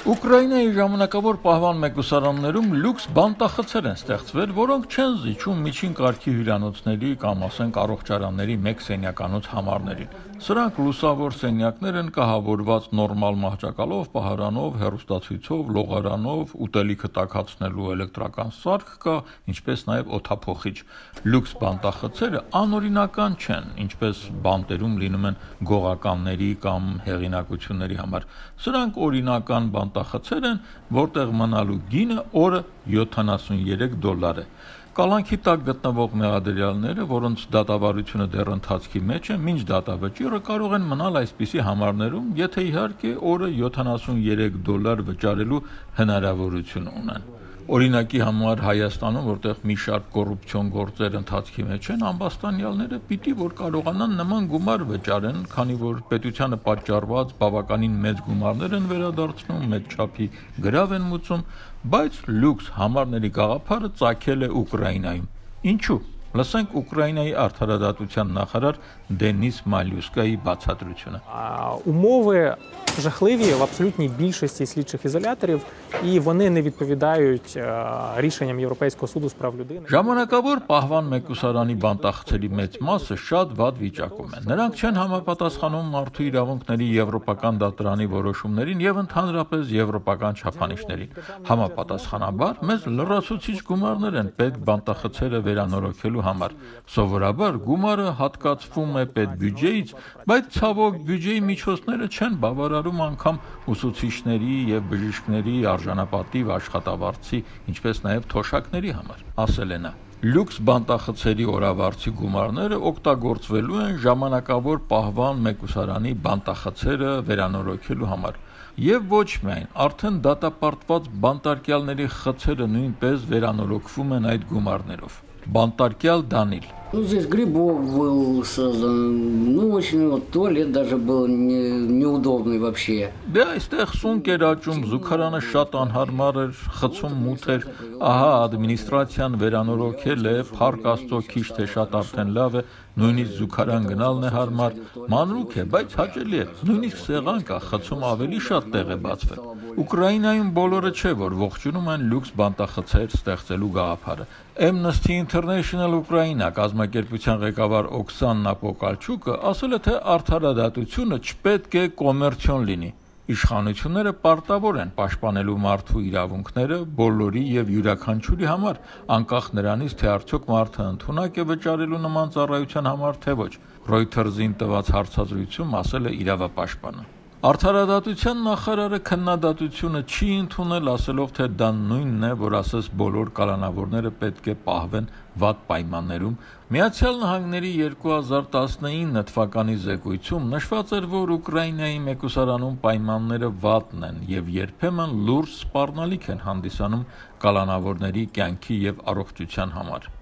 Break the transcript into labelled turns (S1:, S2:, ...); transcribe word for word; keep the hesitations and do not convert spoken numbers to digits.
S1: Ուկրաինայի ժամանակավոր պահվան մեկուսարաններում լյուքս բանտախցեր են ստեղծվել, որոնք չեն զիջում միջին կարգի հյուրանոցների կամ ասենք առողջարանների մեկ սենյականոց համարներին։ Սրանք լուսավոր սենյակներ են կահավորված նորմալ մահճակալով, պահարանով, հեռուստացույցով, լողարանով, ուտելիքը տաքացնելու էլեկտրական սարք կա, ինչպես նաև օդափոխիչ։ Լյուքս բանտախցերը անօրինական չեն, ինչպես բանտերում լինում են գողականների կամ հեղինակությունների համար։ Սրանք օրինական բանտախցեր են, որտեղ մնալու գինը օրը յոթանասունյերեք դոլար է։ Կալանքի տակ գտնվող մեղադրյալները, որոնց դատավարությունը դեռ ընթացքի մեջ է, մինչ դատավճիռը կարող են մնալ այսպիսի համարներում, եթե իհարկե օրը յոթանասունյերեք դոլար վճարելու հնարավորություն ունեն։ Օրինակի համար Հայաստանում, որտեղ մի շարք կոռուպցիոն գործեր ընթացքի մեջ են, ամբաստանյալները պիտի որ կարողանան նման գումար վճարեն, քանի որ պետությանը պատճառված բավականին մեծ գումարներ են վերադարձնում, մեծ չափի գրավ են մուծում, բայց լյուքս համարների գաղափարը ծագել է Ուկրաինայում։ Ինչու՞։ Լսենք Ուկրաինայի արդարադատության նախարար Դենիս Малюскայի բացատրությունը։
S2: Умови жахливі в абсолютній більшості слідчих ізоляторів, і вони не відповідають рішенням Європейського суду з прав людини.
S1: Ժամանակավոր պահվան մեկուսարանի բանտախցերի մեծ մասը շատ վատ վիճակում են։ Նրանք չեն համապատասխանում մարդու իրավունքների եվրոպական դատարանի որոշումներին եւ ընդհանրապես եվրոպական չափանիշներին։ Համապատասխանաբար մեզ լրացուցիչ գումարներ են պետք բանտախցերը վերանորոգելու համար։ Սովորաբար գումարը հատկացվում է պետբյուջեից, բայց ցավոք բյուջեի միջոցները չեն բավարարում անգամ ուսուցիչների եւ բժիշկների արժանապատիվ աշխատավարձի, ինչպես նաեւ թոշակների համար, ասել է նա։ Լյուքս բանտախցերի օրավարձի գումարները օգտագործվելու են ժամանակավոր պահվան մեկուսարանի բանտախցերը վերանորոգելու համար։ Եվ ոչ միայն, արդեն դատապարտված бантարկյալների խցերը նույնպես վերանորոգվում են այդ գումարներով։ Բանտարկյալ Դանիլ։
S3: Ну, здесь грибок был создан, ну, очень, вот, туалет даже был не, неудобный вообще.
S1: Դե այստեղ սունկ էր աճում, զուգարանը շատ անհարմար էր, խցում մութ էր, ահա ադմինիստրացիան վերանորոգել է, փառք Աստծո քիչ թե շատ արդեն լավ է, նույնիսկ զուգարան գնալն է հարմար, մանրուք է, բայց հաճելի է, նույնիսկ սեղան կա, խցում ավելի շատ տեղ է բացվել։ Ուկրաինայում բոլորը չէ, որ ողջունում են լյուքս բանտախցեր ստեղծելու գաղափարը։ Amnesty International Ukraine կազմակերպության ղեկավար Օքսանա Պոկալչուկը ասել է, թե արդարադատությունը չպետք է կոմերցիոն լինի։ Իշխանությունները պարտավոր են պաշտպանելու մարդու իրավունքները բոլորի եւ յուրաքանչյուրի համար, անկախ նրանից, թե արդյոք մարդը ընդունակ է վճարելու նման ծառայության համար, թե ոչ։ Reuters-ին տված հարցազրույցում ասել է իրավապաշտպանը։ Արդարադատության նախարարը քննադատությունը չի ընդունել, ասելով, թե դա նույնն է, որ ասես բոլոր կալանավորները պետք է պահվեն վատ պայմաններում։ Միացյալ Նահանգների երկու հազար տասնինը թվականի զեկույցում նշված էր, որ Ուկրաինայի մեկուսարանում պայմանները վատն են եւ երբեմն լուրջ սպառնալիք են հանդիսանում կալանավորների կյանքի եւ առողջության համար։